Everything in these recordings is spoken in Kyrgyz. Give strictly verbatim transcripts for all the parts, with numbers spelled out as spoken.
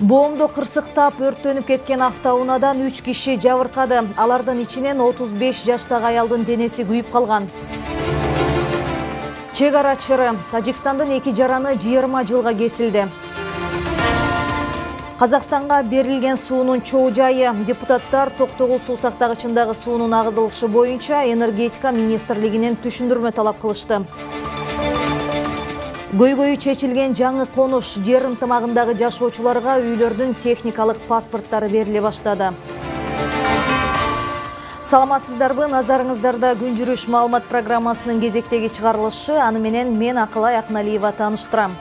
Боомдо кырсыктап өрттөнүп кеткен автоунаадан үч киши жабыркады. Алардын ичинен отуз беш жаштагы аялдын денеси күйүп калган. Чек ара чыры. Тажикстандын эки жараны жыйырма жылга кесилди. Казакстанга берилген суунун чоо жайы. Депутаттар токтогул суу сактагычындагы суунун агызылышы боюнча энергетика министрлигинен түшүндүрмө талап кылышты. Көйгөйү чечилген жаңы конуш. Жер ынтымагындагы жашоочуларга үйлөрдүн техникалык паспорттары бериле баштады. Саламатсыздарбы, назарыңыздарда күн жүрүш маалымат программасынын кезектеги чыгарылышы. Аны менен мен Акылай Акналиева тааныштырам.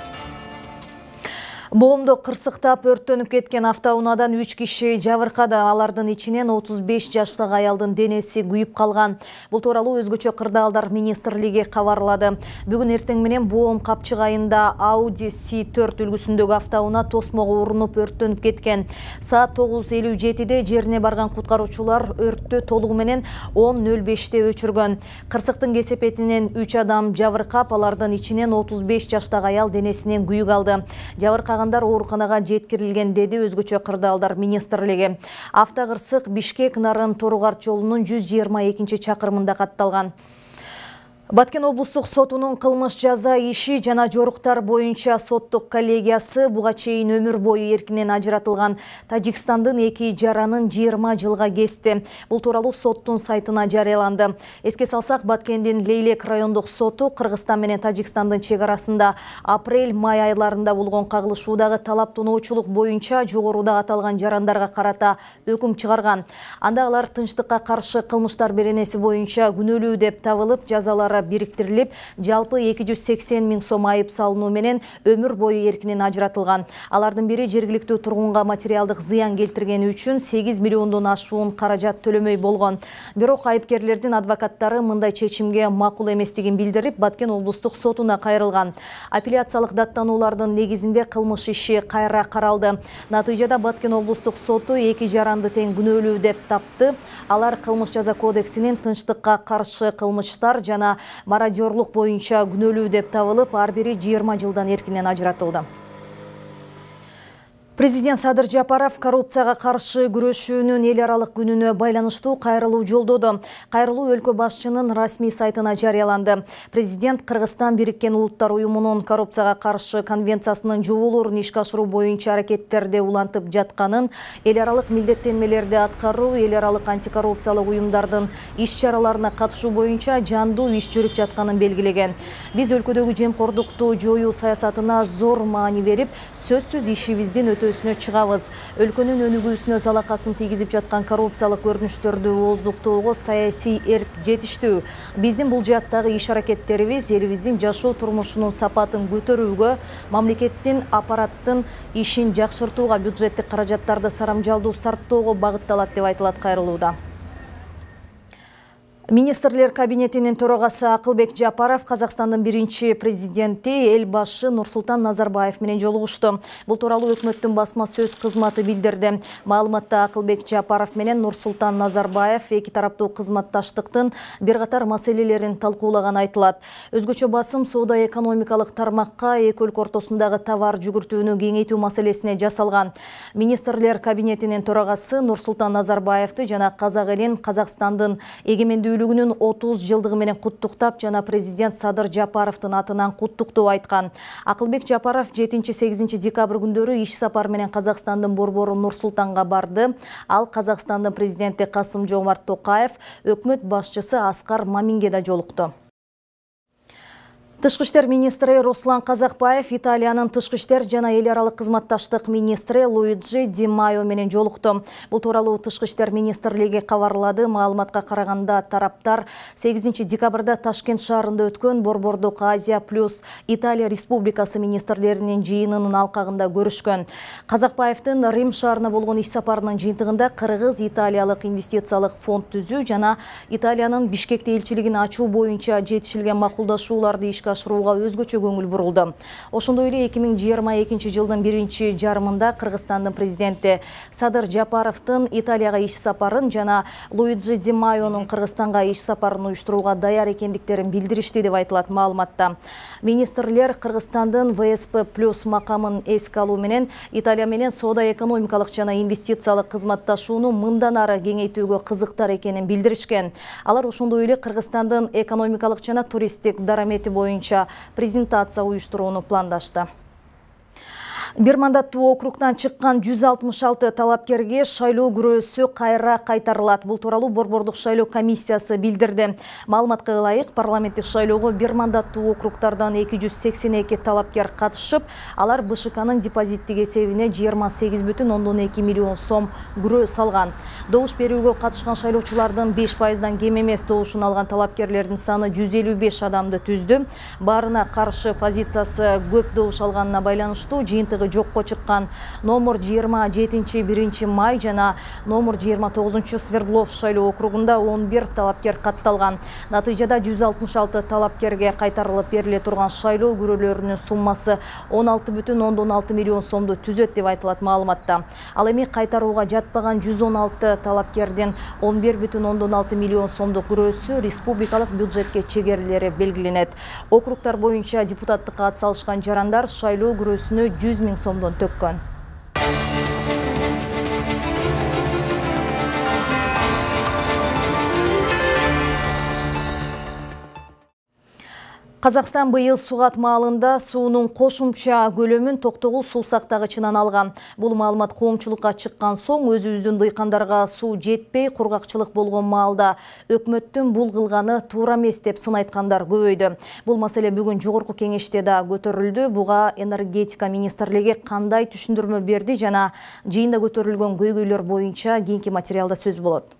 Боомдо кырсыктап өрттөнүп кеткен автоунаадан үч киши жабыркады. Алардын ичинен отуз беш жаштагы аялдын денеси күйүп калган. Бул тууралуу өзгөчө кырдаалдар министрлиги кабарлады. Бүгүн эртең менен Боом капчык айында Audi си төрт үлгүсүндөгү автоунаа тосмого урунуп өрттөнүп кеткен. Саат тогуз элүү жетиде жерине барган куткаруучулар өрттү толугу менен он нөл беште өчүргөн. Кырсыктын кесепетинен үч адам жабыркап, алардын ичинен отуз беш жаштагы аял денесинен күйүк алды. Жабыркаган ооруканага жеткирилген, деди өзгөчө кырдаалдар министрлиги. Автокырсык Бишкек-Нарын Торугарт жолунун жүз жыйырма экинчи чакырымында катталган. Баткен облустук сотунун кылмыш жаза иши жана жоруктар боюнча соттук коллегиясы буга чейин өмүр бою эркинен ажыратылган Тажикстандын эки жаранын жыйырма жылга кести. Бул тууралуу соттун сайтына жарыяланды. Эске салсак, Баткендин Лейлек райондук соту Кыргызстан менен Тажикстандын чек арасында апрель-май айларында болгон кагылышуудагы талап тоноочулук боюнча жогоруда аталган жарандарга карата өкүм чыгарган. Анда алар тынчтыкка каршы кылмыштар беренеси боюнча күнөөлүү деп табылып, жазалары бириктирилип, жалпы эки жүз сексен миң сом айып салынуу менен өмүр бою эркинен ажыратылган. Алардын бири жергиликтүү тургунга материалдык зыян келтиргени үчүн сегиз миллиондон ашуун каражат төлөмөй болгон. Бирок айыпкерлердин адвокаттары мындай чечимге макул эместигин билдирип, Баткен облустук сотуна кайрылган. Апелляциялык даттануулардын негизинде кылмыш иши кайра каралды. Натыйжада Баткен облустук соту эки жаранды тең күнөөлүү деп тапты. Алар кылмыш жаза кодексинин тынчтыкка каршы кылмыштар жана мародёрлук боюнча күнөөлүү деп табылып, ар бири жыйырма жылдан эркинен ажыратылды. Президент Садыр Жапаров коррупцияга каршы күрөшүүнүн эл аралык күнүнө байланыштуу кайрылуу жолдоду. Кайрылуу өлкө башчынын расмий сайтына жарыяланды. Президент Кыргызстан Бириккен Улуттар уюмунун коррупцияга каршы конвенциясынын жоболорун ишке ашыруу боюнча аракеттерде улантып жатканын, эл аралык милдеттенмелерди аткаруу, эл аралык антикоррупциялык уюмдардын иш-чараларына катышуу боюнча жандуу иш жүрүп жатканын белгилеген. Биз өлкөдөгү жемкордукту жоюу саясатына зор маани берип, сөзсүз ишибиздин өтөөсүнө чыгабыз. Өлкөнүн өнүгүүсүнө залакасын тийгизип жаткан коррупциялык көрүнүштөрдү ооздуктоого саясий эрк жетиштүү. Биздин бул жааттагы иш аракеттерибиз элибиздин жашоо турмушунун сапатын көтөрүүгө, мамлекеттин аппараттын ишин жакшыртууга, бюджеттик каражаттарды сарамжалдуу сарптоого багытталат деп айтылат кайрылууда. Министрлер кабинетинин төрагасы Акылбек Жапаров Казакстандын биринчи президенти элбашы Нурсултан Назарбаев менен жолугушту. Бул тууралуу өкмөттүн басма сөз кызматы билдирди. Маалыматта Акылбек Жапаров менен Нурсултан Назарбаев эки тараптуу кызматташтыктын бир катар маселелерин талкуулаганы айтылат. Өзгөчө басым соода-экономикалык тармакка эки өлкө ортосундагы товар жүгүртүүнү кеңейтүү маселесине жасалган. Министрлер кабинетинин төрагасы Нурсултан Назарбаевди жана казак элин Казакстандын эгемендүүлүгүнүн отуз жылдыгы менен куттуктап жана президент Садыр Жапаровдун атынан куттуктоо айткан. Акылбек Жапаров жетинчи-сегизинчи декабрь күндөрү иш сапар менен Казакстандын борбору Нур-Султанга барды. Ал Казакстандын президенти Касым-Жомарт Токаев, өкмөт башчысы Аскар Маминге да жолукту. Тышкы иштер министри Руслан Казакбаев Италиянын тышкы иштер жана эл аралык кызматташтык министри Луиджи Ди Майо менен жолукту. Бул тууралуу тышкы иштер министрлиги кабарлады. Маалыматка караганда, тараптар сегизинчи декабрда Ташкент шаарында өткөн Борбордук Азия плюс Италия Республикасы министрлеринин жыйынынын алкагында көрүшкөн. Казакбаевдин Рим шаарына болгон иш сапарынын жыйынтыгында Кыргыз-Италиялык инвестициялык фонд түзүү жана Италиянын Бишкекте элчилигин ачуу боюнча жетишилген макулдашууларды ишке ашырууга өзгөчө көңүл бурулду. Ошондой эле эки миң жыйырма экинчи жылдын биринчи жарымында Кыргызстандын президенти Садыр Жапаровдун Италияга иш сапарын жана Луиджи Ди Майонун Кыргызстанга иш сапарын уюштурууга даяр экендиктерин билдиришти деп айтылат маалыматта. Министрлер Кыргызстандын вэ эс пэ плюс макамын эске алуу менен Италия менен соода-экономикалык жана инвестициялык кызматташууну мындан ары кеңейтүүгө кызыктар экенин билдиришкен. Алар ошондой эле Кыргызстандын экономикалык жана туристтик дарамети боюнча презентация уюштурууну пландашты. Бир мандаттуу округтан чыккан жүз алтымыш алты талапкерге шайлоо күрөөсү кайра кайтарылат. Бул тууралуу Борбордук шайлоо комиссиясы билдирди. Маалыматка ылайык, парламенттик шайлоого бир мандаттуу округтардан эки жүз сексен эки талапкер катышып, алар бэ ша канын депозиттик эсебине жыйырма сегиз бүтүн ондон эки миллион сом күрөө салган. Добуш берүүгө катышкан шайлоочулардын беш пайыздан кем эмес добушун алган талапкерлердин саны жүз элүү беш адамды түздү. Баарына каршы позициясы көп добуш алганына байланыштуу жыйынтыгы жокко чыккан номер жыйырма жетинчи биринчи май жана номер жыйырма тогузунчу Свердлов шайлоо округунда он бир талапкер катталган. Натыйжада жүз алтымыш алты талапкерге кайтарылып бериле турган шайлоо күрөөлөрүнүн суммасы он алты бүтүн ондон алты миллион сомду түзөт деп айтылат маалыматта. Ал эми кайтарууга жатпаган жүз он алты талапкердин он бир бүтүн ондон алты миллион сомдук күрөөсү республикалык бюджетке чегерилери белгиленет. Округтар боюнча депутаттыкка ат салышкан жарандар шайлоо күрөөсүнө жүз миң сомдон төккөн. Казакстан быйыл сугат маалында суунун кошумча көлөмүн токтогул суу сактагычынан алган. Бул маалымат коомчулукка чыккан соң өзүбүздүн дыйкандарга суу жетпей, кургакчылык болгон маалда өкмөттүн бул кылганы туура эмес деп сын айткандар көбөйдү. Бул маселе бүгүн жогорку кеңеште да көтөрүлдү. Буга энергетика министрлиги кандай түшүндүрмө берди жана жыйында көтөрүлгөн көйгөйлөр боюнча кийинки материалда сөз болот.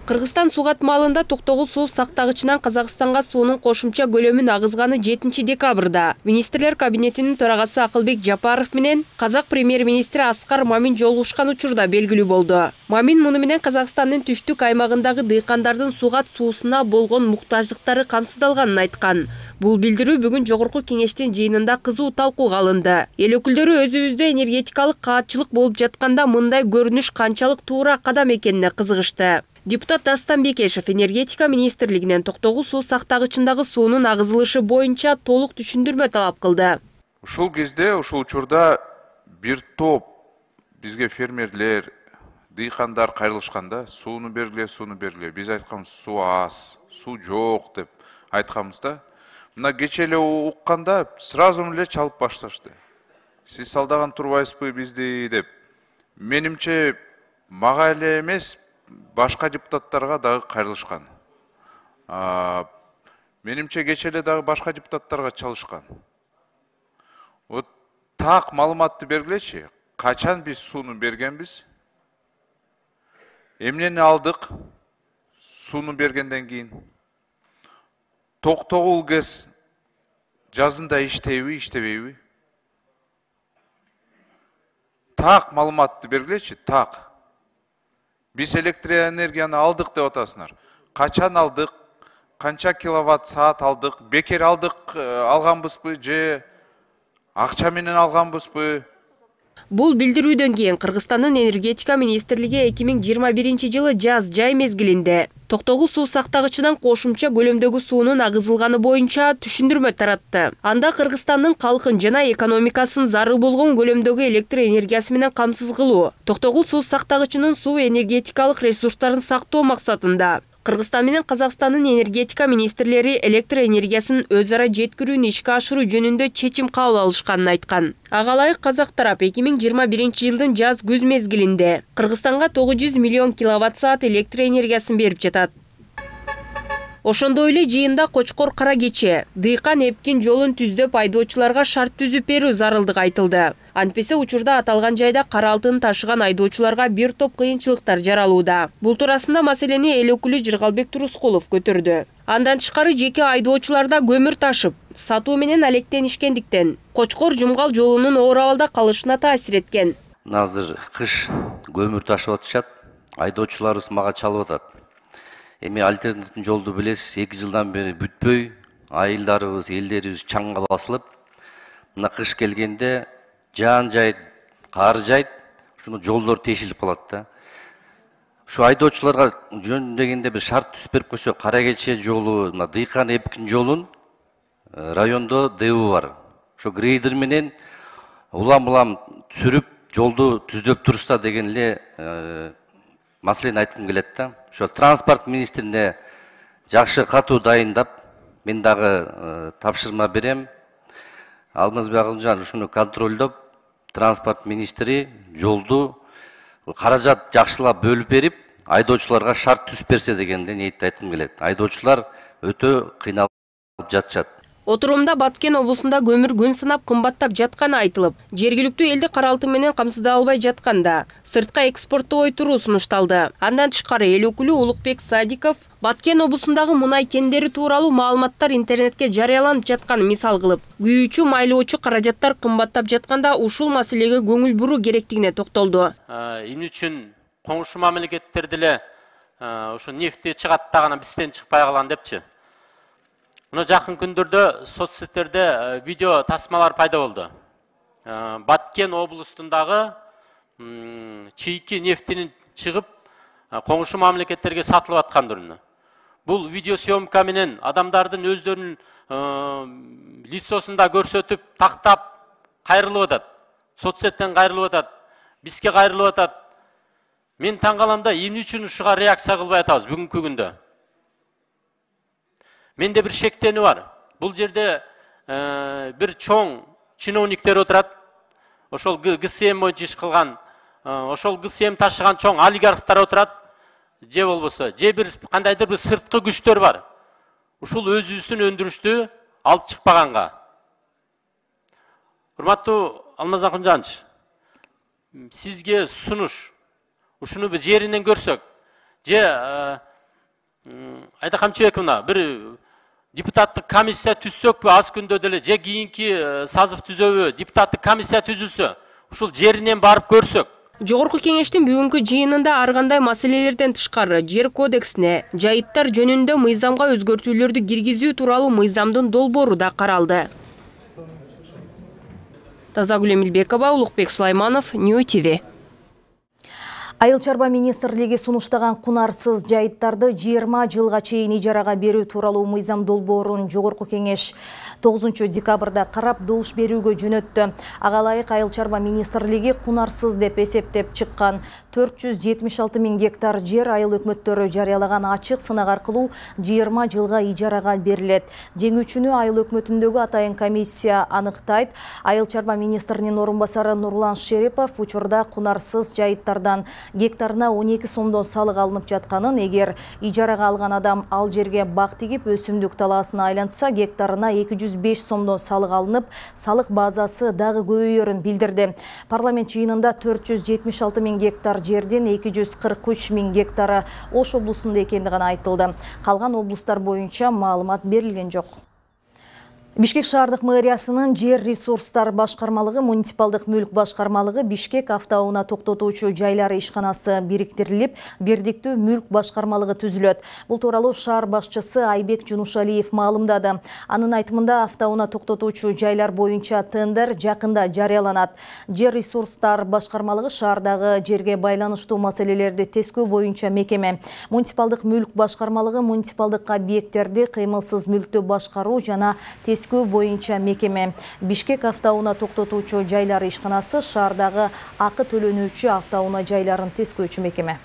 Кыргызстан сугат маалында токтогул суу сактагычынан Казакстанга суунун кошумча көлөмүн агызганы жетинчи декабрда министрлер кабинетинин төрагасы Акылбек Жапаров менен Казак премьер-министри Аскар Мамин жолугушкан учурда белгилүү болду. Мамин муну менен Казакстандын түштүк аймагындагы дыйкандардын сугат суусуна болгон муктаждыктары камсыздалганын айткан. Бул билдирүү бүгүн жогорку кеңештин жыйынында кызуу талкууга алынды. Эл өкүлдөрү өзүбүздө энергетикалык каатчылык болуп жатканда мындай көрүнүш канчалык туура кадам экенине кызыгышты. Депутат Дастан Бекешев энергетика министрлигинен токтогул суу сактагычындагы суунун агызылышы боюнча толук түшүндүрмө талап кылды. Ушул кезде, ушул учурда бир топ бизге фермерлер, дыйкандар кайрылышканда сууну бергиле, сууну бергиле. Биз айтканбыз суу аз, суу жок деп айтканбызда. Мына кече эле укканда сразу эле чалып башташты. Сиз алдаган турбайсызбы бизди деп. Менимче мага эле эмес, башка депутаттарга дагы кайрылышкан. Менимче кече эле дагы башка депутаттарга чалышкан. Вот так маалыматты бергилечи. Качан биз сууну бергенбиз? Эмнени алдык? Сууну бергенден кийин. Токтогул ГЭС жазында иштейби, иштебейби? Так маалыматты бергилечи, так. Биз электроэнергияны алдык деп атасыңар. Качан алдык? Канча киловатт саат алдык? Бекер алдык алганбызбы же акча менен алганбызбы? Бул билдирүүдөн кийин Кыргызстандын энергетика министрлиги эки миң жыйырма биринчи жылы жаз жай мезгилинде токтогул суу сактагычынан кошумча көлөмдөгү суунун агызылганы боюнча түшүндүрмө таратты. Анда Кыргызстандын калкын жана экономикасын зарыл болгон көлөмдөгү электр энергиясы менен камсыз кылуу, токтогул суу сактагычынын суу энергетикалык ресурстарын сактоо максатында Кыргызстан менен Казакстандын энергетика министрлери электр энергиясын өз ара жеткирүүнү ишке ашыруу жөнүндө чечим кабыл алышканын айткан. Ага ылайык Казак тарап эки миң жыйырма биринчи жылдын жаз күз мезгилинде Кыргызстанга тогуз жүз миллион киловатт саат электр энергиясын берип жатат. Ошондой эле жыйында Кочкор Кара Кече, дыйкан эпкин жолун түздөп айдоочуларга шарт түзүп берүү зарылдыгы айтылды. Антпесе учурда аталган жайда кара алтын ташыган айдоочуларга бир топ кыйынчылыктар жаралууда. Бул туурасында маселени эл өкүлү Жыргалбек Турускулов көтөрдү. Андан тышкары жеке айдоочуларда көмүр ташып, сатуу менен алектенишкендиктен Кочкор Жумгал жолунун оор абалда калышына таасир эткен. Азыр кыш көмүр ташып атышат, айдоочуларыбыз мага чалып атат. Эми альтернативдүү жолду билесиз, эки жылдан бери бүтпөй, айылдарыбыз, элдерибиз чаңга басылып, мына кыш келгенде жаан жайт, кар жайт, ушуну жолдор тешилип калат да. Ушу айдоочуларга жөндөгөндө бир шарт түзүп берип койсо, Кара Кече жолу, мына Дыйкан Эпкин жолун райондо Д У бар. Ошо грейдер менен улам-улам сүрүп, жолду түздөп турушса деген эле маселени айткым келет да. Ошо транспорт министрине жакшы катуу дайындап, мен дагы тапшырма берем. Алмазбек Акылжан ушуну контролдоп, транспорт министри жолду каражат жакшылап бөлүп берип, айдоочуларга шарт түзүп берсе дегенде ниетти айткым келет. Айдоочулар өтө кыйналып жатышат. Отурумда Баткен облусунда көмүр күн сынап кымбаттап жатканы айтылып, жергиликтүү элди каралтуу менен камсыздай албай жатканда сыртка экспорттоо ойтуруу сунушталды. Андан тышкары эл өкүлү Улукбек Садиков Баткен облусундагы мунай кендери тууралуу маалыматтар интернетке жарыяланып жатканын мисал кылып, күйүүчү майлоочу каражаттар кымбаттап жатканда ушул маселеге көңүл буруу керектигине токтолду. Эмне үчүн коңшу мамлекеттерде эле ошо нефти чыгат дагы бизден чыкпай калган депчи. Мына жакын күндөрдө соцсеттерде видео тасмалар пайда болду. Баткен облусундагы чийки нефтинин чыгып коңшу мамлекеттерге сатылып аткандырын. Бул видео съемка менен адамдардын өздөрүнүн лицосунда көрсөтүп, тактап кайрылып атат. Соцсеттен кайрылып атат, бизге кайрылып атат. Мен таң калам да, эмне үчүн ушуга реакция кылбай атабыз бүгүнкү күндө? Менде бир шектенүү бар. Бул жерде бир чоң чиновниктер отурат. Ошол Г С М боюнча иш кылган, ошол Г С М ташыган чоң олигархтар отурат. Же болбосо, же бир кандайдыр бир сырткы күчтөр бар. Ушул өзүбүздүн өндүрүштү алып чыкпаганга. Урматтуу Алмаз Акынжанович, сизге сунуш. Ушуну бир жеринен көрсөк, же айда камчыбековна бир депутаттык комиссия түзсөкпү аз күндө деле, же кийинки сазыв түзөбү депутаттык комиссия түзүлсө, ушул жеринен барып көрсөк. Жогорку кеңештин бүгүнкү жыйынында ар кандай маселелерден тышкары жер кодексине, жайыттар жөнүндө мыйзамга өзгөртүүлөрдү киргизүү тууралуу мыйзамдын долбоору да каралды. Тазагүл Эмилбекова, Улукбек Сулайманов, Нью Ти Ви. Айыл чарба министрлиги сунуштаган кунарсыз жайыттарды жыйырма жылга чейин ижарага берүү тууралуу мыйзам долбоорун жогорку кеңеш тогузунчу декабрда карап добуш берүүгө жөнөттү. Ага ылайык айыл чарба министрлиги кунарсыз деп эсептеп чыккан төрт жүз жетимиш алты миң гектар жер айыл өкмөттөрү жарыялаган ачык сынак аркылуу жыйырма жылга ижарага берилет. Жеңүүчүнү айыл өкмөтүндөгү атайын комиссия аныктайт. Айыл чарба министринин орун басары Нурлан Шерипов учурда кунарсыз жайыттардан гектарына он эки сомдон салык алынып жатканын, эгер ижарага алган адам ал жерге бак тигип өсүмдүк талаасына айланса, гектарына эки жүз беш сомдон салык алынып, салык базасы дагы көбөйөрүн билдирди. Парламент жыйынында төрт жүз жетимиш алты миң гектар жердин эки жүз кырк үч миң гектары Ош облусунда экендиги айтылды. Калган облустар боюнча маалымат берилген жок. Бишкек шаардык мэриясынын жер ресурстар башкармалыгы, муниципалдык мүлк башкармалыгы, Бишкек автоунаа токтотуучу жайлары ишканасы бириктирилип, бирдиктүү мүлк башкармалыгы түзүлөт. Бул тууралуу шаар башчысы Айбек Жунушалиев маалымдады. Анын айтымында автоунаа токтотуучу жайлар боюнча тендер жакында жарыяланат. Жер ресурстар башкармалыгы шаардагы жерге байланыштуу маселелерди тескөө боюнча мекеме. Муниципалдык мүлк башкармалыгы муниципалдык объекттерди кыймылсыз мүлктү башкаруу жана тескөө боюнча мекеме. Бишкек автоунаа токтотуучу жайлары ишканасы шаардагы акы төлөнүүчү автоунаа жайларын тескөөчү мекеме.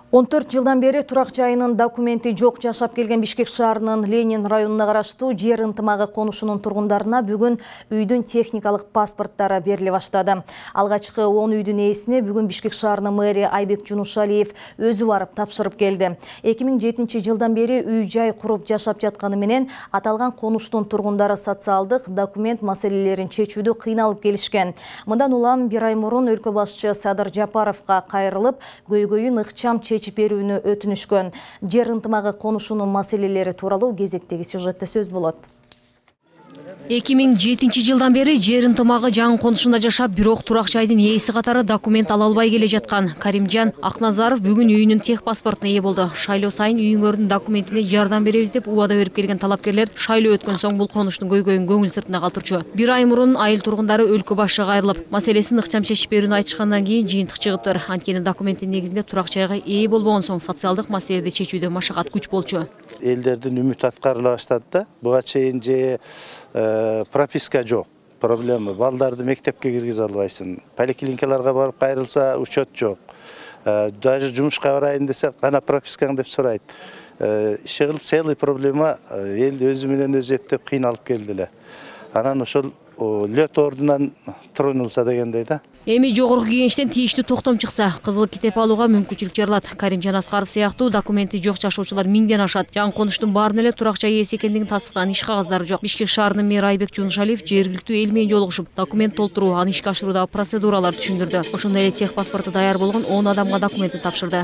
он төрт жылдан бери турак жайынын документи жок жашап келген Бишкек шаарынын Ленин районуна караштуу жер ынтымагы конушунун тургундарына бүгүн үйдүн техникалык паспорттары бериле баштады. Алгачкы он үйдүн ээсине бүгүн Бишкек шаарынын мэри Айбек Жунушалиев өзү барып тапшырып келди. эки миң жетинчи жылдан бери үй-жай куруп жашап жатканы менен аталган конуштун тургундары социалдык документ маселелерин чечүүдө кыйналып келишкен. Мындан улам бир ай мурун өлкө башчы Садыр Жапаровго кайрылып, көйгөйүн ыкчам чечип берүүнү өтүнүшкөн. Жер ынтымагы конушунун маселелери тууралуу кезектеги сюжетте сөз болот. эки миң жетинчи жылдан бери жер ынтымагы жаңы конушунда жашап, бирок турак жайдын ээси катары документ ала албай келе жаткан Каримжан Акназаров бүгүн үйүнүн тех паспортуна ээ болду. Шайлоо сайын үйүңөрдүн документине жардам беребиз деп убада берип келген талапкерлер шайлоо өткөн соң бул конуштун көйгөйүн көңүл сыртына калтырчу. Бир ай мурун айыл тургундары өлкө башчыга кайрылып, маселесин ыкчам чечип берүүнү айтышкандан кийин жыйынтык чыгыптыр. Анткени документтин негизинде турак жайга ээ болбогон соң социалдык маселеди чечүүдө машакат күч болчу. Элдердин үмүтү аткарыла баштады да. Буга чейин же прописка жок. Проблема балдарды мектепке киргизе албайсың. Поликлиникаларга барып кайрылса учет жок. Даже жумушка барайын десе кана пропискаң деп сурайт. Иши кылып целый проблема эл өзү менен өзү эптеп кыйналып келди эле. Анан ошол лёт ордунан тронулса дегендей да. Эми жогорку кеңештен тийиштүү токтом чыкса, кызыл китеп алууга мүмкүнчүлүк жаралат. Каримжан Аскаров сыяктуу документи жок жашоочулар миңден ашат. Жаңы конуштун баарына эле турак жай ээси экендигин тастыктаган иш кагаздары жок. Бишкек шаарынын мэри Айбек Жунушалиев жергиликтүү эл менен жолугушуп, документ толтуруу, аны ишке ашыруудагы процедураларды түшүндүрдү. Ошондой эле тех паспорту даяр болгон он адамга документин тапшырды.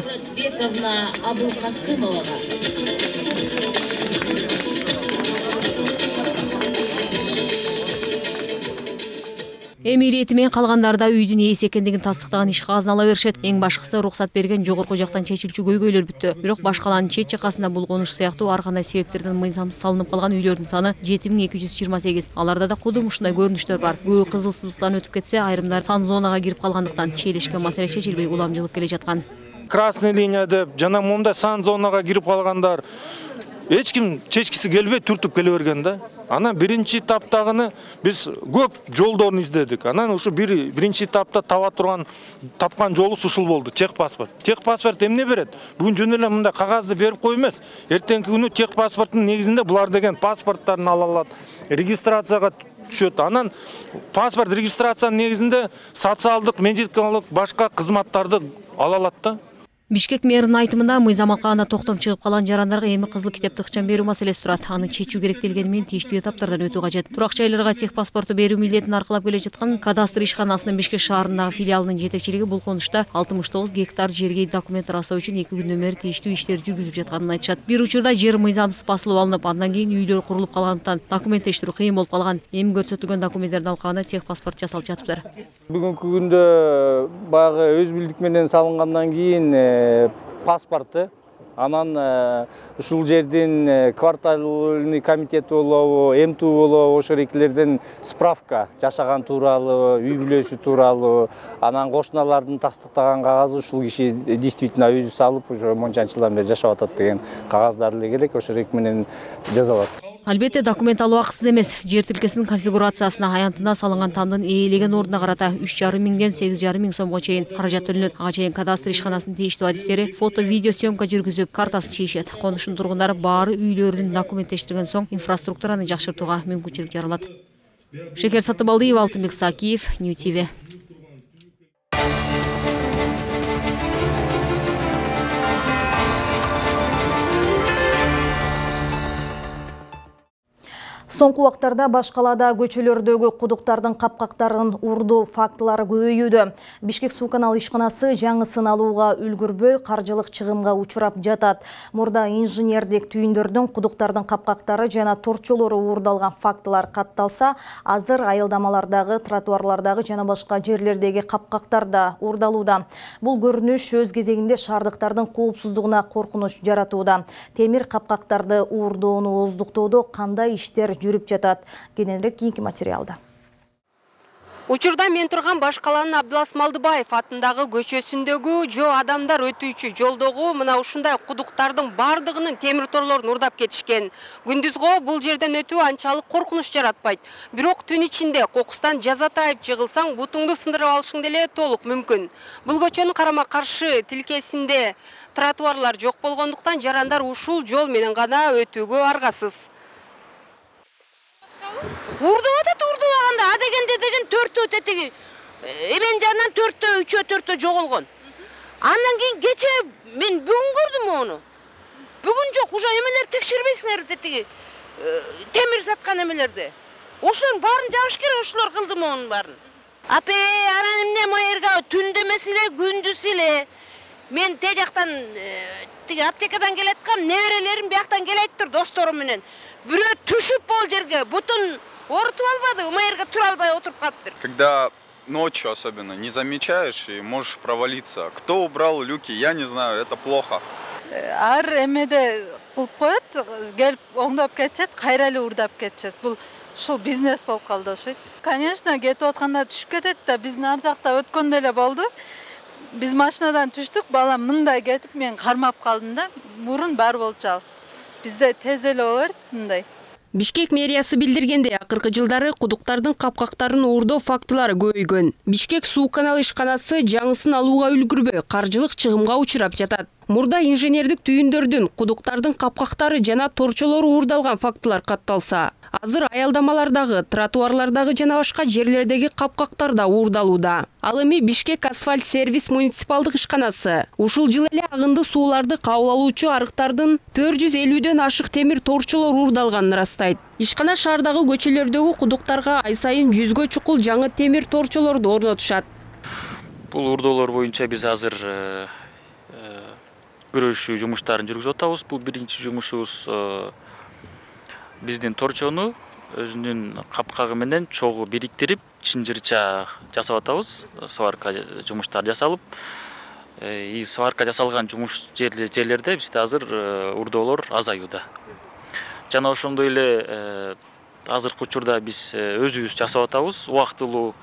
Эми ирети менен калгандары да үйдүн ээси экендигин тастыктаган иш кагазын ала беришет. Эң башкысы уруксат берген жогорку жактан чечилчү көйгөйлөр бүттү. Бирок башкаланын чет жакасында бул конуш сыяктуу ар кандай себептерден мыйзамсыз салынып калган үйлөрдүн саны жети миң эки жүз жыйырма сегиз. Аларда да кудум ушундай көрүнүштөр бар. Көбү кызылсыздыктан өтүп кетсе, айрымдары сан зонага кирип калгандыктан чийлешкен маселе чечилбей уламжылып келе жаткан. Красный линия деп жана монда сан зонага кирип калгандар эч ким чечкиси келбей түртүп келе берген да. Анан биринчи этаптагыны биз көп жолдорун издедик. Анан ушу бир биринчи этапта таба турган тапкан жолубуз ушул болду. Тех паспорт. Тех паспорт эмне берет? Бүгүн жөн эле мындай кагазды берип кой эмес. Эртеңки күнү тех паспорттун негизинде булар деген паспорттарын ала алат, регистрацияга түшөт. Анан паспорт регистрациянын негизинде социалдык, медикалык башка кызматтарды ала алат да. Бишкек мэринин айтымында мыйзам алкагында токтом чыгып калган жарандарга эми кызыл китепти ыкчам берүү маселеси турат. Аны чечүү керек делгени менен тийиштүү этаптардан өтүү кажет. Турак жайларга тех паспорту берүү милдетин аркылап келе жаткан кадастр ишканасынын Бишкек шаарындагы филиалынын жетекчилиги бул конушта алтымыш тогуз гектар жерге документ расоо үчүн эки күндөн бери тийиштүү иштер жүргүзүп жатканын айтышат. Бир учурда жер мыйзамсыз басылып алынып, андан кийин үйлөр курулуп калгандыктан документтештирүү кыйын болуп калган. Эми көрсөтүлгөн документтердин алкагында тех паспорт жасалып жатыптыр. Бүгүнкү күндө баягы өз билдик менен салынгандан кийин паспорты, анан ушул жердин квартальный комитети болобу, МТУ болобу, ошол экилерден справка жашаган тууралуу, үй бүлөсү тууралуу, анан кошуналардын тастыктаган кагазы ушул киши действительно өзү салып, ошо мончанчы жылдан бери жашап атат деген кагаздар эле керек, ошол эки менен жазалат. Албетте документ алуу акысыз эмес. Жер тилкесинин конфигурациясына аянтына салынган тамдын ээлеген ордуна карата үч жарым миңден сегиз жарым миң сомго чейин каражат төлөнөт. Ага чейин кадастр ишканасынын тийиштүү адистери фото, видео съемка жүргүзүп, картасын чийишет. Конуштун тургундары баары үйлөрүн документтештирген соң инфраструктураны жакшыртууга мүмкүнчүлүк жаралат. Шекер Сатыбалдиев, Алтынбек Сакиев, Нью ти ви. Соңку убактарда баш калаада көчөлөрдөгү кудуктардын капкактарын урдоо фактылары көбөйүүдө. Бишкек суу канал ишканасы жаңысын алууга үлгүрбөй каржылык чыгымга учурап жатат. Мурда инженердик түйүндөрдүн кудуктардын капкактары жана торчолору уурдалган фактылар катталса, азыр айылдамалардагы, тротуарлардагы жана башка жерлердеги капкактар да уурдалууда. Бул көрүнүш өз кезегинде шаардыктардын коопсуздугуна коркунуч жаратууда. Темир капкактарды уурдоону оздуктоодо кандай иштер жүрүп жатат? Кененирээк кийинки материалда. Учурда мен турган баш калаанын Абдылас Малдыбаев атындагы көчөсүндөгү жо адамдар өтүүчү жолдогу мына ушундай кудуктардын бардыгынын темир торлорун урдап кетишкен. Күндүзгө бул жерден өтүү анчалык коркунуч жаратпайт. Бирок түн ичинде кокустан жазатайып жыгылсаң, бутуңду сындырып алышың деле толук мүмкүн. Бул көчөнүн карама каршы тилкесинде тротуарлар жок болгондуктан жарандар ушул жол менен гана өтүүгө аргасыз. Урдуп атат, урдубаганда а дегенде деген төртөө тетиги эмен жанынан төртөө, үчөө, төртөө жоголгон. Андан кийин кече мен бүгүн көрдүм ону. Бүгүн жок, уже эмелер текшербейсиңер тетиги темир саткан эмелерди. Ошолордун баарын жабыш керек, ошолор кылды монун баарын. Апе, анан эмне моерга түндө эмес эле, күндүз эле. Мен те жактан тиги аптекадан келаткам, неберелерим бияктан келет тур досторум менен. Бирөө түшүп бол жерге, бутун Орутуп албады, мэрге тура албай отуруп калыптыр. Когда ночью особенно не замечаешь и можешь провалиться. Кто убрал люки, я не знаю, это плохо. Ар эмеде кылып коет, келип оңдоп кетет, кайра эле урдап кетет. Бул ушул бизнес болуп калды окшойт. Конечно, кетип атканда түшүп кетет да, биздин ар жакта өткөндө эле болду. Биз машинадан түштүк, балам мындай кетип мен кармап калдым да, мурун бар болчу. Бизде тез эле болор мындай. Бишкек мэриясы билдиргендей, акыркы жылдары кудуктардын капкактарын уурдоо фактылары көбөйгөн. Бишкек суу каналы ишканасы жаңысын алууга үлгүрбөй, каржылык чыгымга учурап жатат. Мурда инженердик түйүндөрдүн, кудуктардын капкактары жана торчолору уурдалган фактылар катталса, азыр аялдамалардагы, тротуарлардагы жана башка жерлердеги капкактар да уурдалууда. Ал эми Бишкек асфальт сервис муниципалдык ишканасы ушул жыл эле агынды сууларды кабыл алуучу арыктардын төрт жүз элүүдөн ашык темир торчолор уурдалганын ырастайт. Ишкана шаардагы көчөлөрдөгү кудуктарга ай сайын жүзгө чукул жаңы темир торчолорду орнотушат. Бул уурдоолор боюнча биз азыр көрүшүү жумуштарын жүргүзүп атабыз. Бул биринчи жумушубуз биздин торчону өзүнүн капкагы менен чогуу бириктирип, чынжырча жасап атабыз. Сварка жумуштары жасалып, и сварка жасалган жумуш жерлерде бизде азыр уурдоолор азаюуда. Жана ошондой эле азыркы учурда биз өзүбүз жасап атабыз. Убактылуу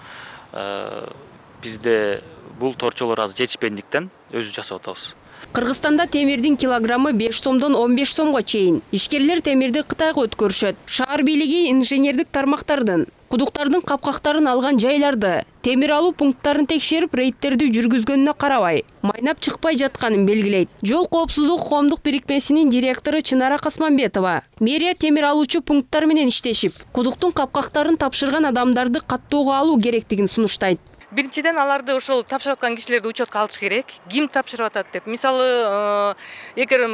бизде бул торчолор азыр жетишпегендиктен өзүбүз жасап атабыз. Кыргызстанда темирдин килограммы беш сомдон он беш сомго чейин. Ишкерлер темирди Кытайга өткөрүшөт. Шаар бийлиги инженердик тармактардын, кудуктардын капкактарын алган жайларды, темир алуу пункттарын текшерип, рейдтерди жүргүзгөнүнө карабай, майнап чыкпай жатканын белгилейт. Жол коопсуздук коомдук бирикмесинин директору Чынара Касманбетова мэрия темир алуучу пункттар менен иштешип, кудуктун капкактарын тапшырган адамдарды каттоого алуу керектигин сунуштайт. Биринчиден аларды ошол тапшырып аткан кишилерди учетко алыш керек. Ким тапшырып атат деп. Мисалы, эгер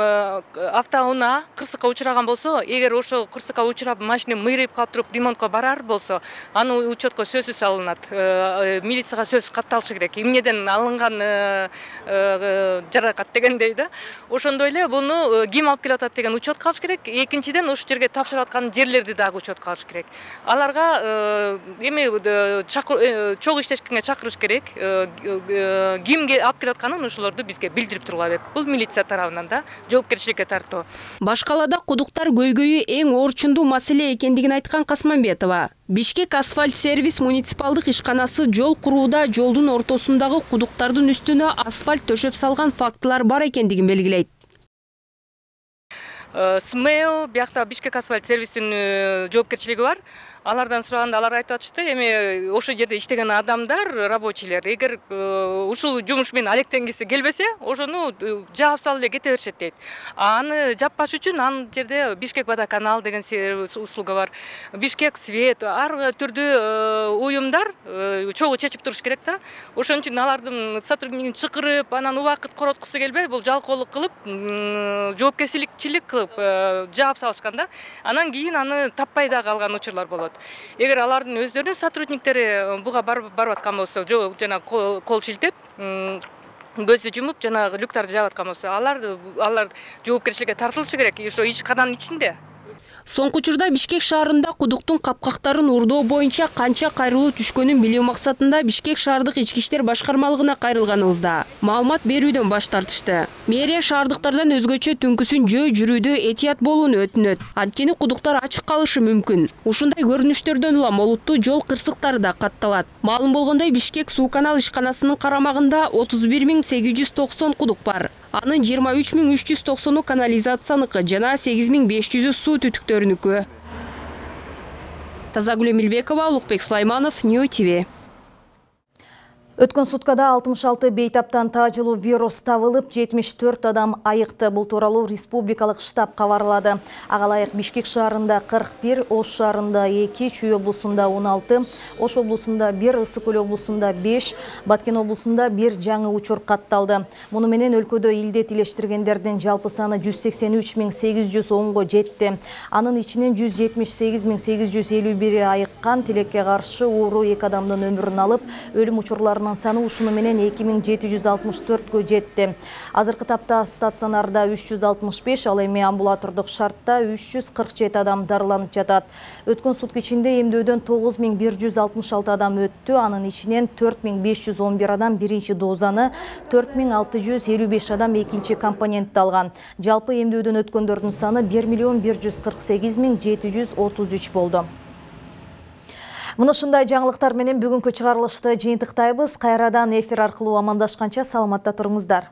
автоунаа кырсыкка учураган болсо, эгер ошол кырсыкка учурап машина мыйрайып калып туруп ремонтко барар болсо, аны учетко сөзсүз алынат. Милицияга сөз катталышы керек. Эмнеден алынган жаракат дегендей да. Ошондой эле буну ким алып келип атат деген учетко алыш керек. Экинчиден ошол жерге тапшырып аткан жерлерди дагы учетко алыш керек. Аларга эми чогуу иштешкенге чакырыш керек. Кимге алып келип атканын ошолорду бизге билдирип тургула деп. Бул милиция тарабынан да жоопкерчиликке тартуу. Башкалада кудуктар көйгөйү эң орчундуу маселе экендигин айткан Касманбетова, Бишкек асфальт сервис муниципалдык ишканасы жол курууда жолдун ортосундагы кудуктардын үстүнө асфальт төшөп салган фактылар бар экендигин белгилейт. СМЭО, биякта Бишкек асфальт сервисинин жоопкерчилиги бар. Алардан сураганда алар айтып атышты, эми ошол жерде иштеген адамдар, рабочийлер, эгер ушул жумуш менен алектенгиси келбесе, ошону жаап салып эле кете беришет дейт. Аны жаппаш үчүн ан жерде Бишкек водоканал деген услуга бар. Бишкек свет, ар түрдүү уюмдар чогуу чечип туруш керек да. Ошон үчүн алардын сотруднигин чакырып, анан убакыт короткусу келбей, бул жалкоолук кылып, жоопкерчилик кылып жаап салышкан да. Анан кийин аны таппай да калган учурлар болот. Эгер алардын өздөрүнүн сотрудниктери буга барып аткан болсо, жана кол шилтеп, көздү жумуп, жана люктарды жаап аткан болсо, алар алар жоопкерчиликке тартылышы керек. Ошо ишкананын ичинде. Соңку учурда Бишкек шаарында кудуктун капкактарын уурдоо боюнча канча кайрылуу түшкөнүн билүү максатында Бишкек шаардык ички иштер башкармалыгына кайрылганыбызда маалымат берүүдөн баш тартышты. Мэрия шаардыктардан өзгөчө түнкүсүн жөө жүрүүдө этият болууну өтүнөт. Анткени кудуктар ачык калышы мүмкүн. Ушундай көрүнүштөрдөн улам олуттуу жол кырсыктары да катталат. Маалым болгондой, Бишкек суу канал ишканасынын карамагында отуз бир миң сегиз жүз токсон кудук бар. Анын жыйырма үч миң үч жүз токсону канализацияныкы жана сегиз миң беш жүзү суу түтүктөрүнүкү. Тазагүл Эмилбекова, Улукбек Сулайманов, Нью ТВ. Өткөн суткада алтымыш алты бейтаптан таажылуу вирус табылып, жетимиш төрт адам айыкты. Бул тууралуу республикалык штаб кабарлады. Ага ылайык Бишкек шаарында кырк бир, Ош шаарында эки, Чүй облусунда он алты, Ош облусунда бир, Ысык Көл облусунда беш, Баткен облусунда бир жаңы учур катталды. Муну менен өлкөдө илдет илештиргендердин жалпы саны жүз сексен үч миң сегиз жүз онго жетти. Анын ичинен жүз жетимиш сегиз миң сегиз жүз элүү бири айыккан, тилекке каршы оору эки адамдын өмүрүн алып, өлүм учурларынын дарылануучуларынын саны ушуну менен эки миң жети жүз алтымыш төрткө жетти. Азыркы тапта стационарда үч жүз алтымыш беш, ал эми амбулатордук шартта үч жүз кырк жети адам дарыланып жатат. Өткөн сутка ичинде эмдөөдөн тогуз миң бир жүз алтымыш алты адам өттү. Анын ичинен төрт миң беш жүз он бир адам биринчи дозаны, төрт миң алты жүз элүү беш адам экинчи компонентти алган. Жалпы эмдөөдөн өткөндөрдүн саны бир миллион бир жүз кырк сегиз миң жети жүз отуз үч болду. Мына ушундай жаңылыктар менен бүгүнкү чыгарылышты жыйынтыктайбыз. Кайрадан эфир аркылуу амандашканча саламатта туруңуздар.